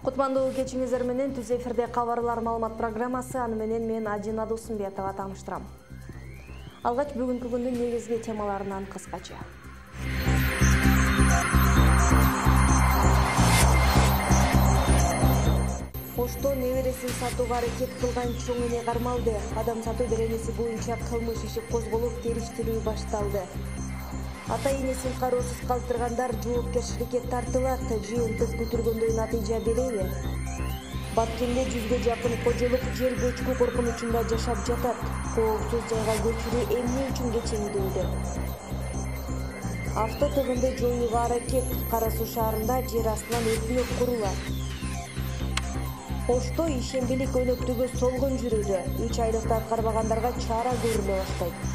Кутмандуу кечиңиздер менен түз эфирде кабарлар маалымат программасы, аны менен мен Ажина Досумбетова тааныштырам. Алгач бүгүнкү күндүн негизги темаларынан кыскача. Ошто небересин сатууга аракет кылган чоң эне кармалды. Адам сатуу беренеси боюнча кылмыш иши козголуп, териштирүү башталды. Ата-энесин кароосуз калтыргандар жоопкерчиликке тартылат. Жыйынтык күтүлгөндөй натыйжа береби? Баткенде 100гө жакын кожолук жер көчкү коркунучунда жашап жатат. Коопсуз жайга көчүрүү эмне үчүн кечиңдүүдө? Авто тыгынды жоюуга аракет. Кара Суу шаарында жер астынан өкмөт курулат. Ошто ишембелик өнөктүгү солгон жүрүүдө. 3 айлыкты аткарбагандарга чара көрүлө баштайт.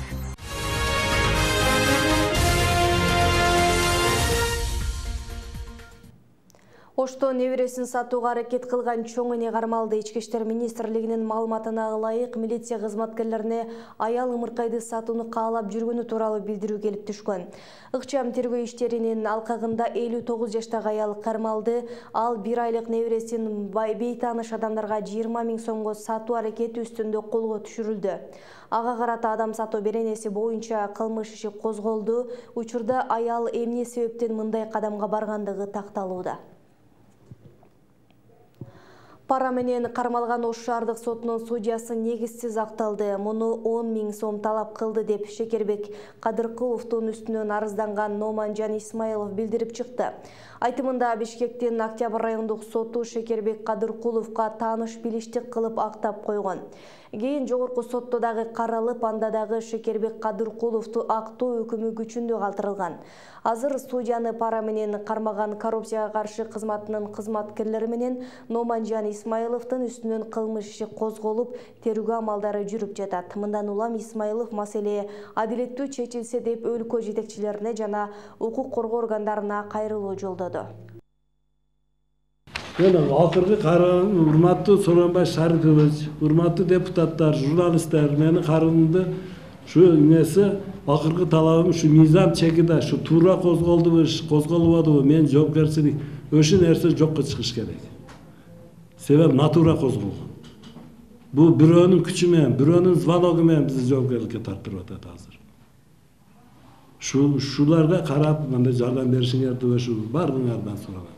Ошто небересин сатууга аракет кылган чоң эне кармалды. Ички иштер министрлигинин маалыматына ылайык, милиция кызматкерлерине аял ымыркайды сатууну каалап жүргөнү тууралуу билдирүү келип түшкөн. Ыкчам тергөө иштеринин алкагында 59 жаштагы аял кармалды. Ал 1 айлык небересин бейтааныш адамдарга 20 000 сомго сатуу аракети үстүндө колго түшүрүлдү. Ага карата адам сатуу беренеси боюнча кылмыш иши козголду. Учурда аял эмне себептен мындай кадамга баргандыгы такталууда. Пара менен кармалган Ош шаардык сотунун судьясы негизсиз акталды. Муну 10 000 сом талап кылды деп Шекербек Кадыркуловдун үстүнөн арызданган Номанжан Исмаилов билдирип чыкты. Айтымында Бишкектин Октябрь райондук соту Шекербек Кадыркуловго тааныш билиштик кылып актап койгон. Кийин жогорку сотто дагы каралып, анда дагы Шекербек Кадыркуловду актоо өкүмү күчүндө калтырылган. Азыр судьяны пара менен кармаган коррупцияга каршы кызматынын кызматкерлери менен Номанжан Исмаиловдун үстүнөн кылмыш иши козголуп, тергөө амалдары жүрүп жатат. Мындан улам Исмаилов маселе адилеттүү чечилсе деп өлкө жетекчилерине жана укук коргоо органдарына кайрылуу жолдоду. Акыркы караган урматтуу Сооронбай Шарыпович, урматтуу депутаттар, журналисттер, мени карынды ушу эмеси акыркы талабым ушу мыйзам чегиде ушу туура козголдубу, козголбодубу, мен жоопкерчилик ошол нерсе жокко чыгыш керек. Себеби натура козголгон. Бул бирөөнүн күчү менен, бирөөнүн звоногу менен бизди жоопкерчиликке тартырып атат азыр. Шуларга карап, мындай жардам беришиңерди ушу бардыгыңардан сурайм.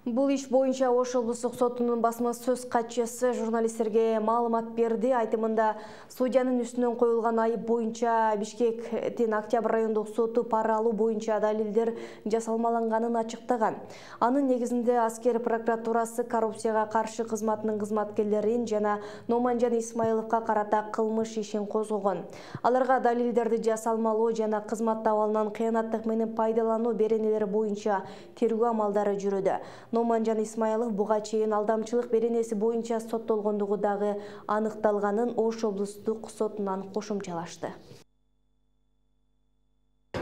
Бул иш боюнча Ош облустук сотунун басма сөз катчысы журналисттерге маалымат берди. Айтымында судьянын үстүнөн коюлган айып боюнча Бишкектин Октябрь райондук соту пара алуу боюнча далилдер жасалмаланганын ачыктаган. Анын негизинде аскер прокуратурасы коррупцияга каршы кызматынын кызматкерлерин жана Номанжан Исмаиловго карата кылмыш ишин козгогон. Аларга далилдерди жасалмалоо жана кызмат абалынан кыянаттык менен пайдалануу беренелери боюнча тергөө амалдары жүрүүдө. Номанжан Исмаилов буга чейин алдамчылык беренеси боюнча соттолгондугу дагы аныкталганын Ош облустук сотунан кошумчалашты.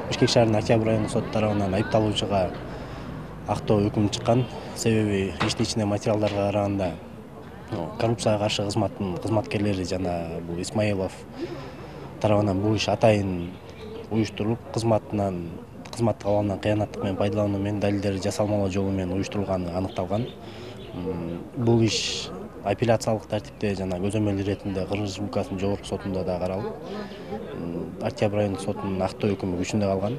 Бишкек шаарынын Октябрь райондук соты тарабынан айыпталуучуга актоо өкүмү чыккан. Себеби иштин ичинде материалдарга караганда коррупцияга каршы кызматтын кызматкерлери жана бул Исмаилов тарабынан бул иш атайын уюштурулуп, кызматтык абалынан кыянаттык менен пайдалануу менен далилдерди жасалмалоо жолу менен уюштурулганы аныкталган. Бул иш апелляциялык тартипте жана көзөмөл иретинде Кыргыз Республикасынын жогорку сотунда да каралып, Октябрь райондук сотунун актоо өкүмү күчүндө калган.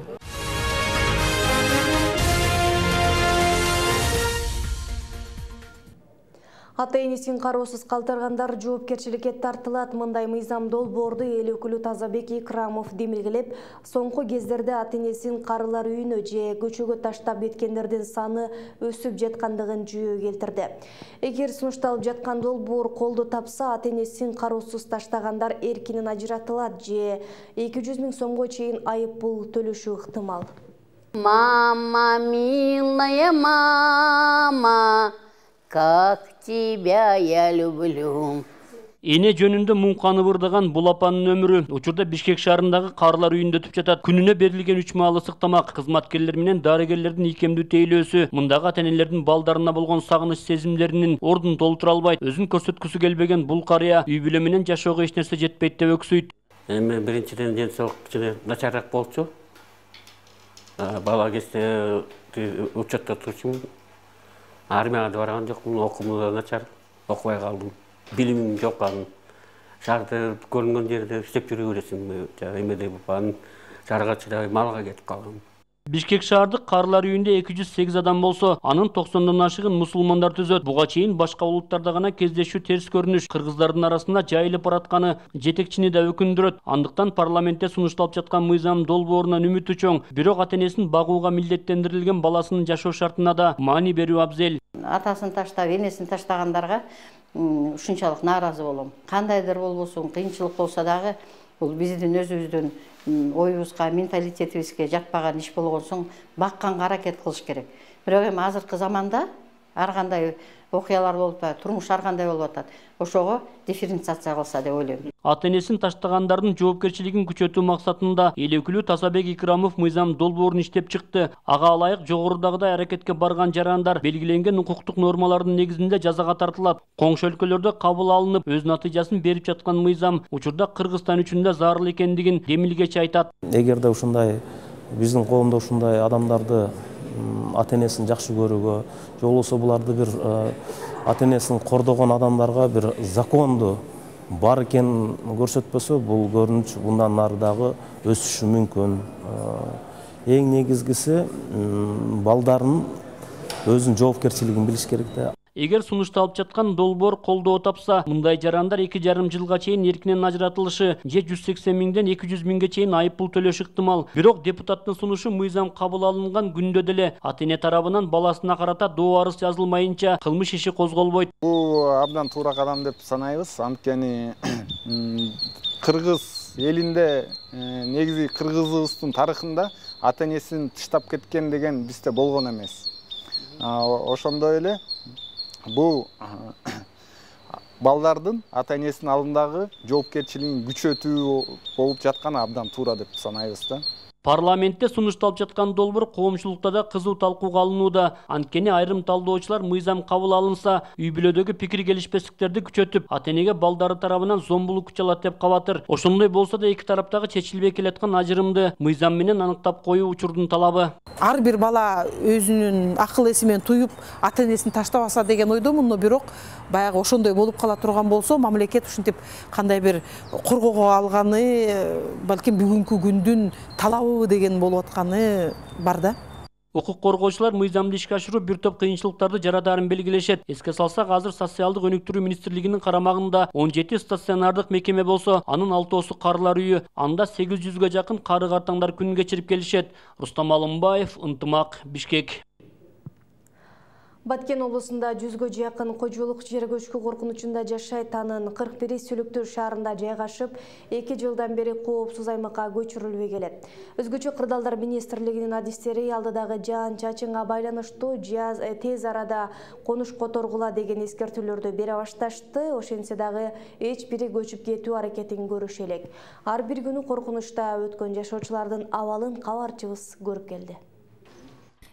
Ата-энесин кароосуз калтыргандар жоопкерчиликке тартылат. Мындай мыйзам долбоорду эл өкүлү Тазабек Икрамов демилгелеп, соңку кездерде ата-энесин карылар үйүнө же көчөгө таштап кеткендердин саны өсүп жаткандыгын жүйө келтирди. Эгер сунушталып жаткан долбоор колду тапса, ата-энесин кароосуз таштагандар эркинен ажыратылат же 200 000 сомго чейин айып пул төлөшү ыктымал. Мама, милая мама, как тебя я люблю. Эне жөнүндө муңканы бырдаган бул апанын өмүрү учурда Бишкек шаарындагы карылар үйүндө өтүп жатат. Күнүнө берилген 3 маал ысык тамак, кызматкерлер менен дарыгерлердин ийкемдүү тейлөөсү мындагы ата-энелердин балдарына болгон сагыныч сезимдеринин ордун толтура албайт. Өзүн көрсөткүсү келбеген бул карыя үй бүлө менен жашоого эч нерсе жетпейт деп өксүйт. Эми биринчиден денсаулык начарыраак болчу. Бала кезде учетто турчумун. Армияга да барган жокмун, окуумда да начар, окубай калдым. Билимим жок анын. Шаарды көрүнгөн жерде иштеп жүрө бересиң, эмеде анын жарга чыдабай малга кетип калгам. Бишкек шаардык каарылар үйүндө 208 адам болсо, анын 90дан ашыгын мусулмандар түзөт. Буга чейин башка улуттарда гана кездешүү терс көрүнүш кыргыздардын арасында жайылып баратканы жетекчини да өкүндүрөт. Андыктан парламентте сунушталып жаткан мыйзам долбоорунан үмүтү чоң. Бирок ата-энесин багууга милдеттендирилген баласынын жашоо шартына да маани берүү абзел. Атасын таштап, энесин таштагандарга ушунчалык нааразы болом. Кандайдыр болбосун, кыйынчылык болсо дагы бул биздин өзүбүздүн оюбузга, менталитетибизге жатпаган иш болгон соң бакканга аракет кылыш керек. Бирок эми азыркы заманда ар кандай окуялар болуп атат, турмуш ар кандай болуп атат. Ошого дифференциация кылса деп ойлойм. Ата-энесин таштагандардын жоопкерчилигин күчөтүү максатында эл өкүлү Тазабек Икрамов мыйзам долбоорун иштеп чыкты. Ага ылайык жогорудагыдай аракетке барган жарандар белгиленген укуктук нормалардын негизинде жазага тартылат. Коңшу өлкөлөрдө кабыл алынып, өз натыйжасын берип жаткан мыйзам учурда Кыргызстан үчүн да зарыл экендигин Демилгечи айтат. Эгерде ушундай биздин коомдо ушундай адамдарды ата-энесин жакшы көрүүгө, же болбосо буларды бир ата-энесин кордогон адамдарга бир законду бар экенин көрсөтпөсө, бул көрүнүш мындан нары дагы өсүшү мүмкүн. Эң негизгиси балдардын өзүнүн жоопкерчилигин билиш керек да. Эгер сунушталып жаткан долбоор колдоо тапса, мындай жарандар 2,5 жылга чейин эркинен ажыратылышы же 180 миңден 200 миңге чейин айып пул төлөшү ыктымал. Бирок депутаттын сунушу мыйзам кабыл алынган күндө деле ата-эне тарабынан баласына карата доо арыз жазылмайынча кылмыш иши козголбойт. Бул абдан туура кадам деп санайбыз. Анткени Кыргыз элинде негизи кыргызыбыздын тарыхында ата-энесин тыштап кеткен деген бизде болгон эмес. Ошондой эле бул балдардын ата-энесинин алдындагы жоопкерчилигин күчөтүү болуп жатканы абдан туура деп санайбыз да. Парламентте сунушталып жаткан долбоор коомчулукта да кызуу талкууга алынууда. Анткени айрым талдоочулар мыйзам кабыл алынса, үй-бүлөдөгү пикир келишпестиктерди күчөтүп, ата-энеге балдары тарабынан зомбулук күч алат деп кабатыр. Ошондой болсо да эки тараптагы чечилбей келаткан ажырымды мыйзам менен аныктап коюу учурдун талабы. Ар бир бала өзүнүн акыл эси менен туюп, ата-энесин таштабаса деген ойдомун, бирок баягы ошондой болуп кала турган болсо, мамлекет ушинтип кандай бир коргоого алганы, балким бүгүнкү күндүн талабы деген болуп атканы бар да. Укук коргоочулар мыйзамды ишке ашыруу бир топ кыйынчылыктарды жаратаарын белгилешет. Эске салсак, азыр социалдык өнүктүрүү министрлигинин карамагында 17 стационардык мекеме болсо, анын 6-оосу каарылар үйү. Анда 800га жакын кары картаңдар күн кечирип келишет. Рустам Алымбаев, Ынтымак, Бишкек. Баткен облусунда 100га жакын кожолук жер көчкү коркунучунда жашайт. Анын 41 Сүлүктүр шаарында жайгашып, 2 жылдан бери коопсуз аймакка көчүрүлбөй келет. Өзгөчө кырдаалдар министрлигинин адистери алдыдагы жаан-чачынга байланыштуу тез арада конуш которгула деген эскертүүлөрдү бере башташты. Ошентсе дагы эч бири көчүп кетүү аракетин көрүшө элек. Ар бир күнү коркунучта өткөн жашоочулардын абалын кабарчыбыз көрүп келди.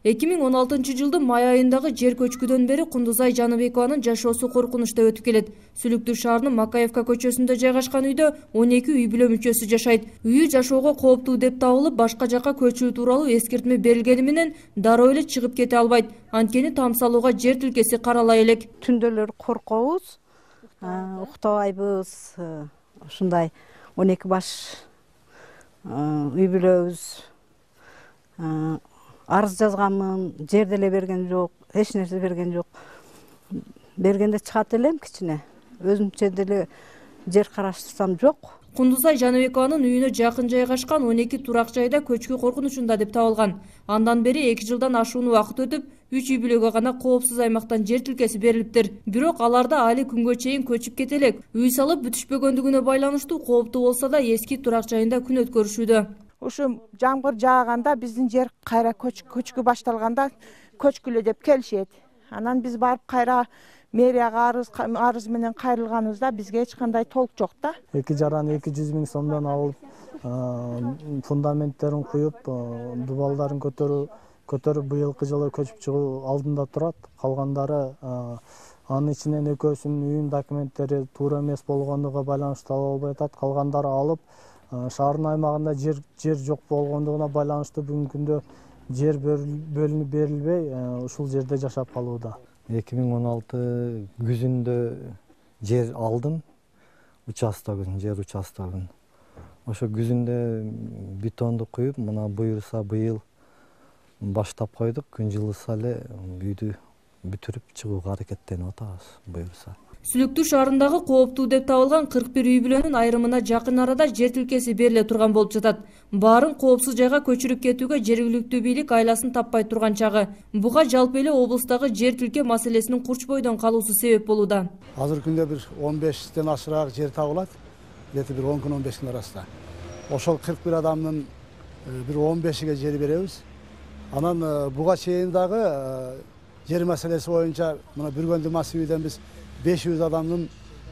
2016 жылдын май айындагы жер көчкүдөн бери Кундузай Жаныбекованын жашоосу коркунучта өтүп келет. Сүлүктүр шаарынын Макаевка көчөсүндө жайгашкан үйдө 12 үй бүлө мүчөсү жашайт. Үйү жашоого кооптуу деп табылып, башка жакка көчүү тууралуу эскертме берилгени менен дароо эле чыгып кете албайт. Анткени там салууга жер тилкеси каралай элек. Түндөлөр коркобуз, уктабайбыз. Ушундай 12 баш үй бүлөбүз. Арыз жазганмын, жер деле берген жок, эч нерсе берген жок. Бергенде чыгат элем кичине. Өзүмчө деле жер караштырсам жок. Кундузай Жаныбекованын үйүнө жакын жайгашкан 12 турак жайда көчкү коркунучунда деп табылган. Андан бери 2 жылдан ашуун убакыт өтүп, 3 үй бүлөгө гана коопсуз аймактан жер тилкеси берилиптир. Бирок аларда али күнгө чейин көчүп кетелек. Үй салып бүтүшпөгөндүгүнө байланыштуу кооптуу болсо да эски турак жайында күн өткөрүшүүдө. Ушу жамгыр жааганда биздин жер кайра көчкү башталганда көчкүлө деп келишет. Анан биз барып кайра мэрияга арыз менен кайрылганыбызда бизге эч кандай толк жок да. 2 жаран 200 миң сомдон алып, фундаменттерин куюп, дубалдарын көтөрүп быйылкы жылы көчүп чыгуу алдында турат. Калгандары анын ичинен экөөсүнүн үйүнүн документтери туура эмес болгондугуна байланыштуу ала албай атат. Калгандары алып, шаардын аймагында жер жок болгондугуна байланыштуу бүгүнкү күндө жер бөлүнүп берилбей, ушул жерде жашап калууда. 2016 күзүндө жер алдым, жер участогун. Ошо күзүндө бетонду куюп, мына буюрса быйыл баштап койдук. Күн жылыса эле үйдү бүтүрүп чыгууга аракеттенип атабыз, буюрса. Сүлүктүү шаарындагы кооптуу деп табылган 41 үй бүлөнүн айрымына жакын арада жер тилкеси бериле турган болуп жатат. Баарын коопсуз жайга көчүрүп кетүүгө жергиликтүү бийлик айласын таппай турган чагы. Буга жалпы эле облустагы жер тилке маселесинин курч бойдон калуусу себеп болууда. Азыркы күндө бир 15тен ашыраак жер табылат. Бир 10 күн 15 күн арасында. Ошол 41 адамдын бир 15иге жер беребиз. Анан буга чейин дагы жер маселеси боюнча мына Бүргөндү массивиден биз 500 адамдын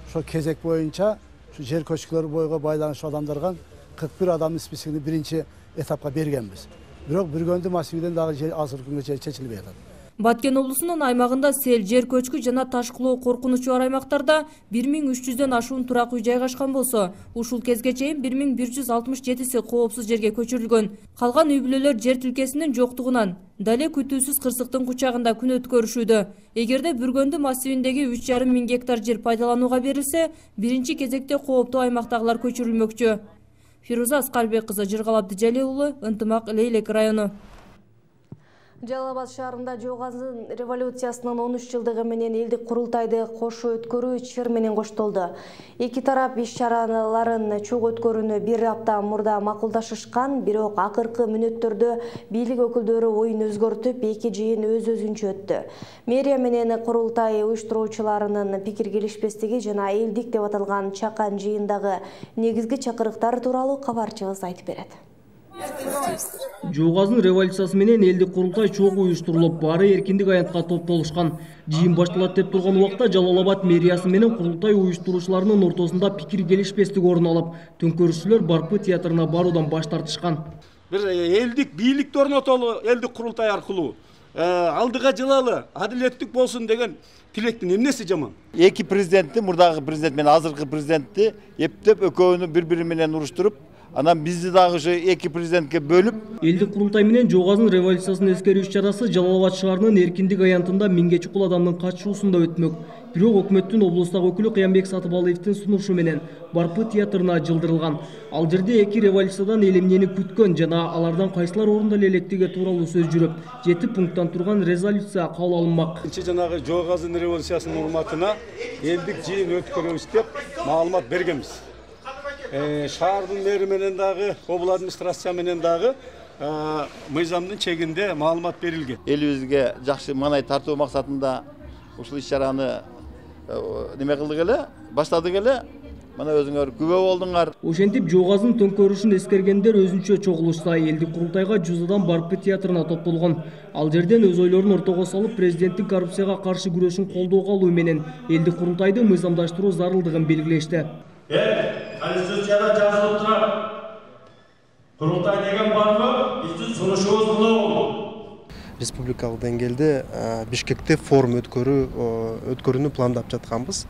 ошо кезек боюнча ушу жер көчкүлөр бойго байланыштуу адамдарга 41 адамдын списигин биринчи этапка бергенбиз. Бирок Бүргөндү массивиден дагы жер азыркы күнгө чейин чечилбей атат. Баткен облусунун аймагында сел, жер көчкү жана ташкылоо коркунучу бар аймактарда 1300дөн ашуун турак үй жайгашкан болсо, ушул кезге чейин 1167си коопсуз жерге көчүрүлгөн. Калган үй бүлөлөр жер тилкесинин жоктугунан дале күтүүсүз кырсыктын кучагында күн өткөрүшүүдө. Эгерде Бүргөндү массивиндеги 3,5 миң гектар жер пайдаланууга берилсе, биринчи кезекте кооптуу аймактагылар көчүрүлмөкчү. Фируза Аскарбек кызы, Жыргалап Дижалиев уулу, Ынтымак, Лейлек району. Жалал Абад шаарында Жоғазын революциясынын 13 жылдыгы менен элдик курултайды кошо өткөрүү чыр менен коштолду. Эки тарап иш-чараларын чогуу өткөрүүнү бир апта мурда макулдашышкан, бирок акыркы мүнөттөрдө бийлик өкүлдөрү оюн өзгөртүп, эки жыйын өз-өзүнчө өттү. Мэрия менен курултай уюштуруучуларынын пикир келишпестиги жана элдик деп аталган чакан жыйындагы негизги чакырыктар тууралуу кабарчыбыз айтып берет. Жоғазын революциясы менен элдик курултай чогуу уюштурулуп, баары эркиндик аянтка топтолушкан. Жыйын башталат деп турган убакта Жалал Абад мэриясы менен курултай уюштуруучуларынын ортосунда пикир келишпестик орун алып, төңкөрүшчүлөр Барпы театрына баруудан баш тартышкан. Бир элдик бийликти орнотолу, элдик курултай аркылуу алдыга жылалы, адилеттик болсун деген тилектин эмнеси жаман? Эки президентти, мурдагы президент менен азыркы президентти эптеп экөөнү бири-бири менен уруштуруп, анан бизди дагы ошо эки президентке бөлүп. Элдик курултай менен Жоғазын революциясын эскерүү иш-чарасы Жалал Абад шаарынын эркиндик аянтында 1000 чукул адамдын катышуусунда өтмөк. Бирок өкмөттүн облустагы өкүлү Кыямбек Сатыбалиевдин сунушу менен Барпы театрына жылдырылган. Ал жерде эки революциядан элемнени күткөн жана алардан кайсылар орунда электиги тууралуу сөз жүрүп, 7 пункттан турган резолюция кабыл алынмак. Жанагы Жоғазын революциясынын урматына элдик жыйын өткөрөбүз деп маалымат бергенбиз. Шаардын мэри менен дагы, обул администрация менен дагы мыйзамдын чегинде маалымат берилген. Элибизге жакшы маанай тартуу максатында ушул иш-чараны неме кылдык эле, баштадык эле. Мына өзүңөр күбө болдуңар. Ошентип Жоғазын төңкөрүшүн эскергендер өзүнчө чогулушса, элдик курултайга Жузадан Барпы театрына топтолгон. Ал жерден өз ойлорун ортого салып, президенттин коррупцияга каршы күрөшүн колдоого алуу менен элдик курултайды мыйзамдаштыруу зарылдыгын белгилешти. Конституцияда жазылып турат. Курултай деген барбы? Биздин сунушубуз болобу? Республикалык деңгээлде Бишкекте форум өткөрүүнү пландап жатабыз.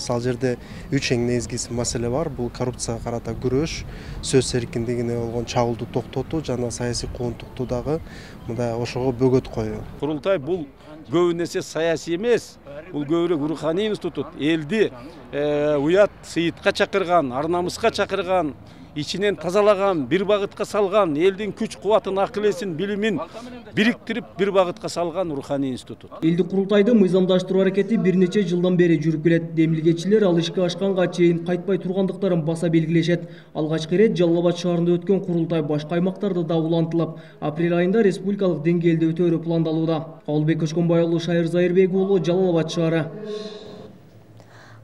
Ал жерде 3 эң негизги маселе бар. Бул коррупцияга карата күрөш, сөз эркиндигине болгон чагылдуу токтотуу жана саясий куугунтукту дагы мындай ошого бөгөт коюу. Курултай бул көбүн эсе саясий эмес, бул көбүрөөк руханий институт. Элди уят сыйытка чакырган, ар-намыска чакырган, ичинен тазалаган, бир багытка салган, элдин күч кубатын, акыл эсин, билимин бириктирип бир багытка салган руханий институт. Элдик курултайды мыйзамдаштыруу аракети бир нече жылдан бери жүрүп келет. Демилгечилер ал ишке ашканга чейин кайтпай тургандыктарын баса белгилешет. Алгачкы ирет Жалал Абад шаарында өткөн курултай башка аймактарда да улантылып, апрель айында республикалык деңгээлде өтөөрү пландалууда. Кабылбек Көчкөнбай уулу, Шайыр Зайырбек уулу, Жалал Абад шаары.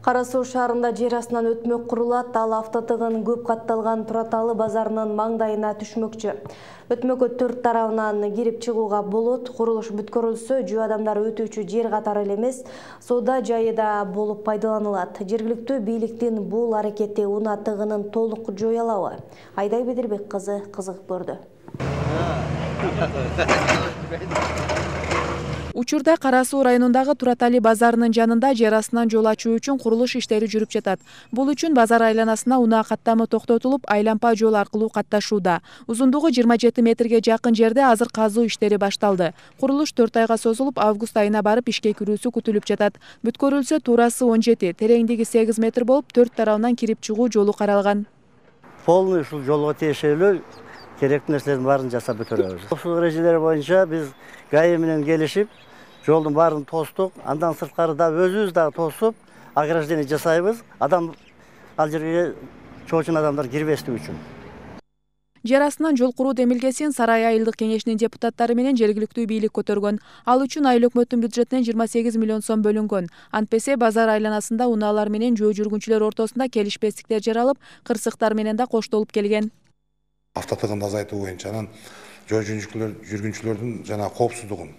Кара Суу шаарында жер астынан өтмөк курулат, ал автотыгын көп катталган Тураталы базарынын маңдайына түшмөкчү. Өтмөккө 4 тарабынан кирип чыгууга болот. Курулуш бүткөрүлсө, жөө адамдар өтүүчү жер катары эле эмес, соода жайы да болуп пайдаланылат. Жергиликтүү бийликтин бул аракети унаа тыгынын толук жое алабы? Айдай Бедербек кызы кызыгып көрдү. Учурда Кара Суу районундагы Туратали базарынын жанында жер астынан жол ачуу үчүн курулуш иштери жүрүп жатат. Бул үчүн базар айланасына унаа каттамы токтотулуп, айлампа жол аркылуу катташууда. Узундугу 27 метрге жакын жерде азыр казуу иштери башталды. Курулуш 4 айга созулуп, август айына барып ишке кирүүсү күтүлүп жатат. Бүткөрүлсө турасы 17, тереңдиги 8 метр болуп, 4 тарабынан кирип чыгуу жолу каралган. Полный ушул жолго тиешелүү керектүү нерселердин баарын жасап бүтүрөбүз. Ушул эрежелер боюнча биз ГАИ менен келишип, жолдун баарын тостук, андан сырткары да өзүбүз дагы тосуп, ограждение жасайбыз. Адам ал жерге чоочун адамдар кирбестик үчүн. Жер астынан жол куруу демилгесин Сарай айылдык кеңешинин депутаттары менен жергиликтүү бийлик көтөргөн. Ал үчүн айыл өкмөттүн бюджетинен 28 миллион сом бөлүнгөн. Антпесе базар айланасында унаалар менен жөө жүргүнчүлөр ортосунда келишпестиктер жаралып, кырсыктар менен да коштолуп келген. Автотыгынды азайтуу боюнча анан жөө жүргүнчүлөрдүн жана коопсуздугун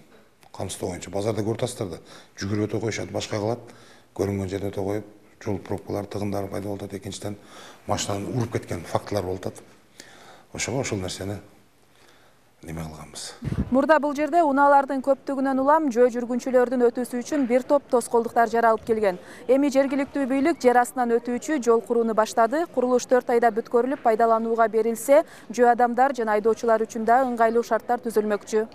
камсыздоо боюнча базарда көрүп атасыздар да, жүгүрүп өтө коюшат, башка кылат, көрүнгөн жерде өтө коюп, жол пробкалар, тыгындар пайда болуп атат. Экинчиден машинаны уруп кеткен фактылар болуп атат. Ошого ошол нерсени неме кылганбыз. Мурда бул жерде унаалардын көптүгүнөн улам жөө жүргүнчүлөрдүн өтүүсү үчүн бир топ тоскоолдуктар жаралып келген. Эми жергиликтүү бийлик жер астынан өтүүчү жол курууну баштады. Курулуш 4 айда бүткөрүлүп, пайдаланууга берилсе, жөө адамдар жана айдоочулар үчүн да ыңгайлуу шарттар түзүлмөкчү.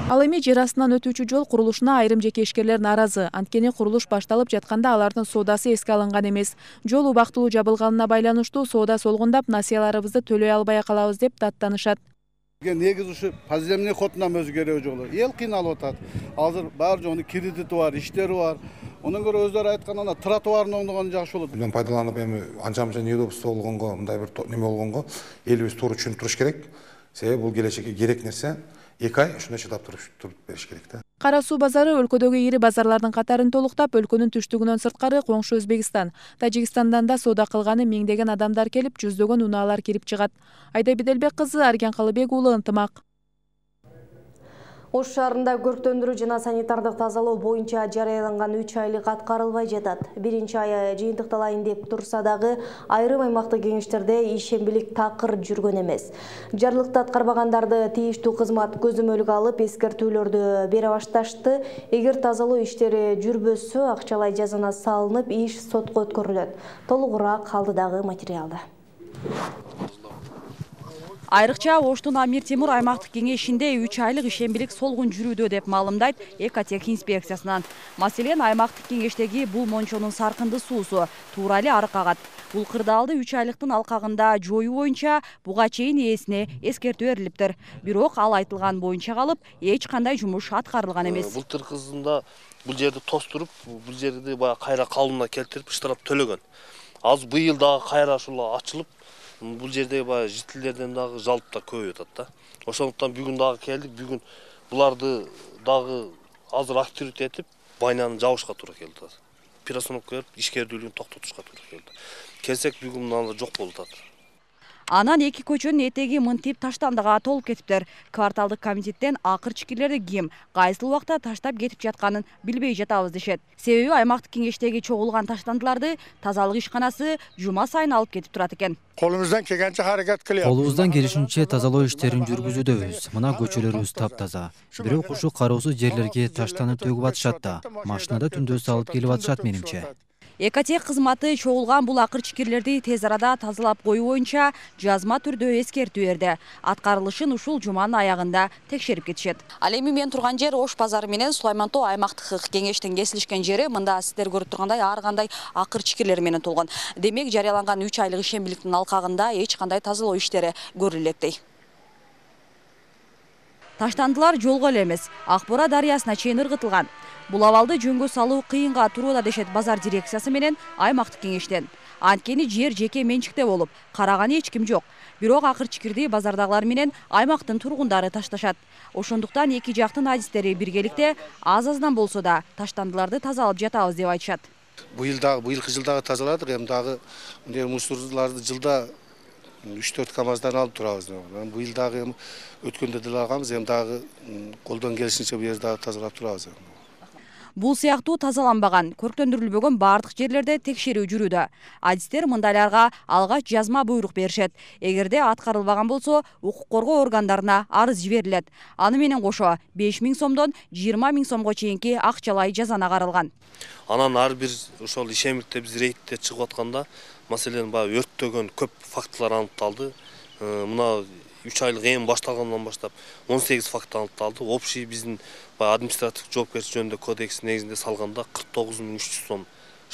Ал эми жер астынан өтүүчү жол курулушуна айрым жеке ишкерлер нааразы. Анткени курулуш башталып жатканда алардын соодасы эске алынган эмес. Жол убактылуу жабылганына байланыштуу соода солгундап, насыяларыбызды төлөй албай калабыз деп даттанышат. Негизи ушу подземный ходунан өзгөрүү жолу. Эл кыйналып атат. Азыр баары жөнү кредити бар, иштери бар. Онун көрө өздөрү айтканда тротуарын оңдогон жакшы болот. Мындан пайдаланып эми анча-мынча неудобство болгонго, мындай бир неме болгонго элибиз туура түшүнүп туруш керек. Себеби бул келечекке керек нерсе. 2 ай ушундай чыдап туруп бериш керек да. Кара Суу базары өлкөдөгү ири базарлардын катарын толуктап, өлкөнүн түштүгүнөн сырткары коңшу Өзбекстан, Тажикстандан да соода кылганы миңдеген адамдар келип, жүздөгөн унаалар кирип чыгат. Айда Биделбек кызы, Арген Калыбек уулу, Ынтымак. Ош шаарында көрктөндүрүү жана санитардык тазалоо боюнча жарыяланган 3 айлык аткарылбай жатат. Биринчи ай жыйынтыкталайын деп турса дагы айрым аймактык кеңештерде ишембилик такыр жүргөн эмес. Жарлыкты аткарбагандарды тийиштүү кызмат көзөмөлгө алып, эскертүүлөрдү бере башташты. Эгер тазалоо иштери жүрбөсө, акчалай жазана салынып, иш сотко өткөрүлөт. Толугураак алдыдагы материалда. Айрыкча Оштун Амир Темур аймактык кеңешинде 3 айлык ишембилик солгун жүрүүдө деп маалымдайт Экотех инспекциясынан. Маселен, аймактык кеңештеги бул мончонун саркынды суусу туура эле арык агат. Бул кырдаалды 3 айлыктын алкагында жоюу боюнча буга чейин ээсине эскертүү берилиптир. Бирок ал айтылган боюнча калып, эч кандай жумуш аткарылган эмес. Былтыр кызында бул жерди тостуруп, бул жерди баягы кайра калыбына келтирип штраф төлөгөн. Азыр быйыл дагы кайра ушул ачылып, бул жерде баягы жителдерден дагы жалп да көбөйүп атат да. Ошондуктан бүгүн дагы келдик. Бүгүн буларды дагы азыр активдүү этип, байнаны жабышка туура келди. Перестановка берип, ишкердүүлүгүн токтотушка туура келди. Келсек бүгүн мына жок болуп атат. Анан эки көчөнүн этеги мынтип таштандыга толуп кетиптир. Кварталдык комитеттен акыр чикирлерди ким, кайсыл убакта таштап кетип жатканын билбей жатабыз дешет. Себеби аймактык кеңештеги чогулган таштандыларды тазалык ишканасы жума сайын алып кетип турат экен. Колубуздан келгенче аракет кылабыз. Колубуздан келишинче тазалоо иштерин жүргүзүүдөбүз. Мына көчөлөрүбүз таптаза. Бирок ушу кароосуз жерлерге таштанып төгүп атышат да. Машинада түндө салып келип атышат менимче. Экотех кызматы чогулган бул акыр чикирлерди тез арада тазалап коюу боюнча жазма түрдө эскертүү берди. Аткарылышын ушул жуманын аягында текшерип кетишет. Ал эми мен турган жер Ош базары менен Сулайман Тоо аймактык кеңештин кесилишкен жери. Мында сиздер көрүп тургандай ар кандай акыр чикирлер менен толгон. Демек жарыяланган 3 айлык ишембиликтин алкагында эч кандай тазалоо иштери көрүлөт дей. Таштандылар жолго эле эмес, Акбора дарыясына чейин ыргытылган. Бул абалды жөнгө салуу кыйынга турууда дешет базар дирекциясы менен аймактык кеңештен. Анткени жер жеке менчикте болуп, караганы эч ким жок. Бирок акыр чикирди базардагылар менен аймактын тургундары ташташат. Ошондуктан эки жактын адистери биргеликте аз-аздан болсо да таштандыларды тазалап жатабыз деп айтышат. Быйылкы жылдагы тазаладык, эми дагы мындай мусорларды жылда 3-4 КАМАЗдан алып турабыз. Быйыл дагы өткөндө деле алганбыз, эми дагы колдон келишинче бу жерди дагы тазалап турабыз. Бул сыяктуу тазаланбаган, көрктөндүрүлбөгөн бардык жерлерде текшерүү жүрүүдө. Адистер мындайларга алгач жазма буйрук беришет. Эгерде аткарылбаган болсо, укук коргоо органдарына арыз жиберилет. Аны менен кошо 5 000 сомдон 20 000 сомго чейинки акчалай жазана каралган. Анан ар бир ошол ишемикте биз рейдте чыгып атканда, маселен, баягы өрттөгөн көп фактылар аныкталды. Мына 3 айлык эми башталгандан баштап 18 факт аныкталды. Общий биздин административдик жоопкерчилик жөнүндө кодекс негизинде салганда 49 300 сом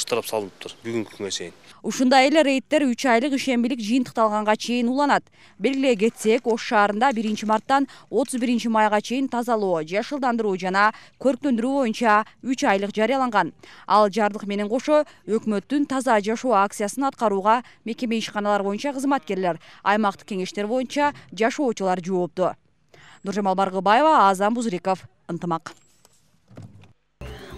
штраф салыныптыр бүгүнкү күнгө чейин. Ушундай эле рейдтер 3 айлык ишембилик жыйынтыкталганга чейин уланат. Белгилей кетсек, Ош шаарында 1 марттан 31 майга чейин тазалоо, жашылдандыруу жана көрктөндүрүү боюнча 3 айлык жарыяланган. Ал жардык менен кошо өкмөттүн таза жашоо акциясын аткарууга мекеме ишканалар боюнча кызматкерлер, аймактык кеңештер боюнча жашоочулар жоопту. Нуржамал Баргыбаева, Азан Бузриков, Ынтымак.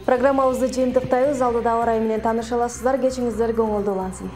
Программабызды жыйынтыктайбыз. Алдыда ауа райы менен тааныша аласыздар. Кечиңиздер көңүлдүү улансын.